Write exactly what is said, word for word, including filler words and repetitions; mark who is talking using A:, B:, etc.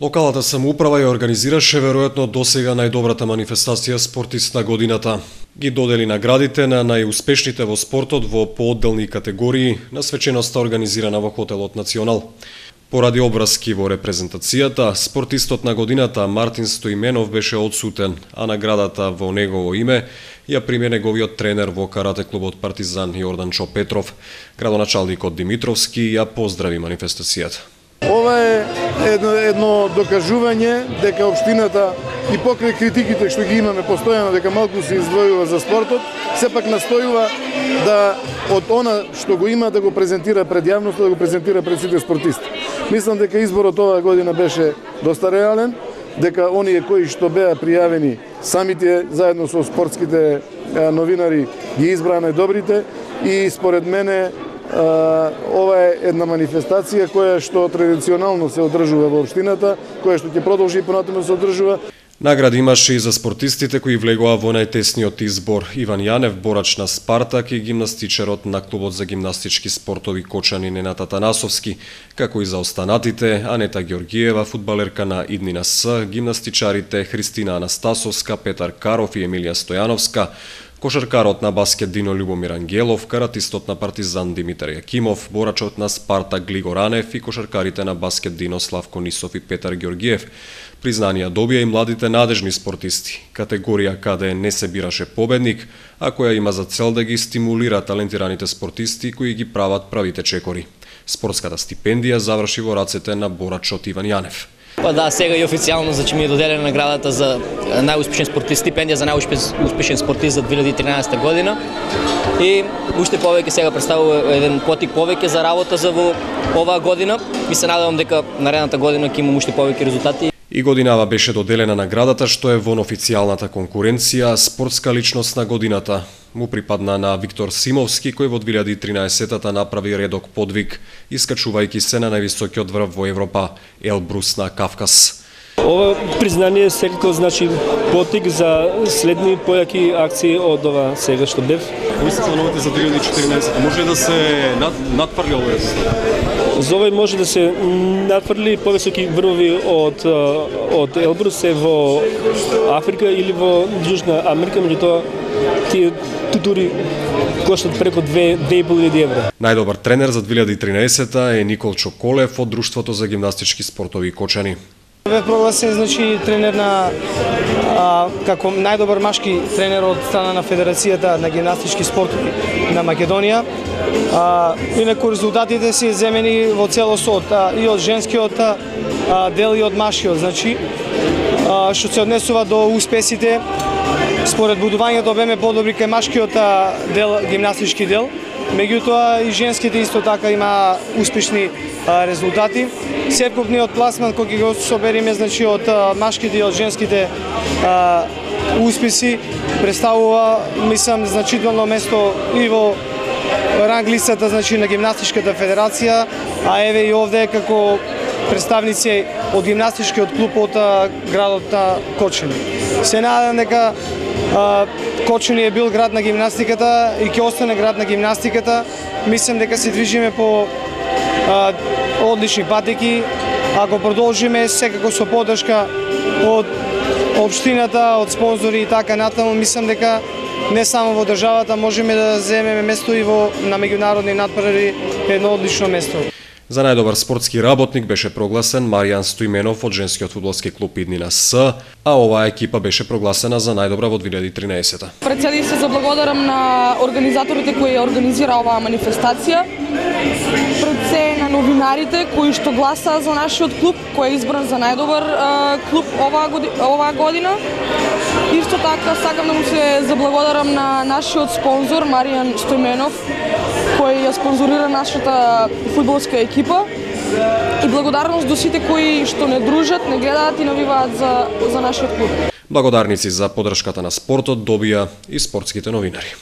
A: Локалната самоуправа ја организираше веројатно досега најдобрата манифестација спортист на годината. Ги додели наградите на најуспешните во спортот во поодделни категории на свеченоста организирана во хотелот Национал. Поради обврски во репрезентацијата, спортистот на годината Мартин Стоименов беше одсутен, а наградата во негово име ја прими неговиот тренер во карате клубот Партизан Јорданчо Петров. Градоначалникот Димитровски ја поздрави манифестацијата.
B: Ова е едно, едно докажување дека општината и покрај критиките што ги имаме постојано дека малку се издвојува за спортот, сепак настојува да од она што го има да го презентира пред јавноста, да го презентира пред сите спортисти. Мислам дека изборот оваа година беше доста реален, дека оние кои што беа пријавени самите заедно со спортските новинари ги избраа најдобрите и според мене ова е една манифестација која што традиционално се одржува во општината, која што ќе продолжи и понатаму да се одржува.
A: Награди имаше и за спортистите кои влегоа во најтесниот избор. Иван Јанев, борач на Спартак, и гимнастичарот на клубот за гимнастички спортови Кочани Ненад Атанасовски, како и за останатите Анета Ѓорѓиева, фудбалерка на Иднина С, гимнастичарите Христина Анастасовска, Петар Каров и Емилија Стојановска, кошаркарот на баскет Дино Љубомир Ангелов, каратистот на Партизан Димитар Јакимов, борачот на Спартак Глиго Ранев и кошаркарите на баскет Дино Славко Нисов и Петар Ѓорѓиев. Признанија добија и младите надежни спортисти, категорија каде не се бираше победник, а која има за цел да ги стимулира талентираните спортисти кои ги прават правите чекори. Спортската стипендија заврши во рацете на борачот Иван Јанев.
C: Па да, сега и официјално значи ми е доделена наградата за најуспешен спортист, стипендија за најуспешен спортист за две илјади и тринаесетта година. И уште повеќе сега представува еден потик повеќе за работа за во оваа година. И се надевам дека наредната година ќе имам уште повеќе резултати.
A: И годинава беше доделена наградата што е во официјалната конкуренција спортска личност на годината. Му припадна на Виктор Симовски, кој во две илјади и тринаесетта направи редок подвиг, искачувајќи се на највисокиот врв во Европа, Елбрус на Кавказ.
D: Ова признание секако значи потик за следни појаки акции од ова сега што бев.
A: Кои се плановите за две илјади и четиринаесетта? Може ли да се над, надфрли овој резултат?
D: За овој може да се надфрли повисоки врвови од од Елбрус е во Африка или во Јужна Америка, меѓутоа тие тури коштат преку две и пол илјади евра.
A: Најдобар тренер за две илјади и тринаесетта е Никол Чоколев од Друштвото за гимнастички спортови Кочани.
E: Бев прогласен значи тренер на а, како најдобар машки тренер од страна на Федерацијата на гимнастички спортови на Македонија. А, инаку резултатите се земени во целост а, и од женскиот а, дел и од машкиот, значи а, што се однесува до успесите. Според будувањето беме подобри кај машкиот дел, гимнастички дел, меѓутоа и женските исто така има успешни а, резултати. Севкупниот пласман кој го собериме значи од а, машките и од женските а, успеси представува мислам значително место и во ранг листата значи на гимнастичката федерација, а еве и овде како представници од гимнастичкиот клуб од а, градот на Кочани. Се надевам дека Кочани е бил град на гимнастиката и ќе остане град на гимнастиката. Мислам дека се движиме по а, одлични патеки. Ако продолжиме секако со поддршка од општината, од спонзори и така натаму, мислам дека не само во државата можеме да земеме место и во на меѓународни надпревари едно одлично место.
A: За најдобар спортски работник беше прогласен Маријан Стоименов од женскиот фудбалски клуб Иднина С, а оваа екипа беше прогласена за најдобра во две илјади и тринаесетта.
F: Пред се се заблагодарам на организаторите кои организира оваа манифестација, пред се на новинарите кои што гласаа за нашиот клуб, кој е избран за најдобар а, клуб оваа година, оваа година. Исто така сакам да му се заблагодарам на нашиот спонзор Маријан Стоименов, кој ја спонзорира нашата фудбалска екипа, и благодарност до сите кои што не дружат, не гледаат и навиваат за, за нашиот клуб.
A: Благодарници за поддршката на спортот добија и спортските новинари.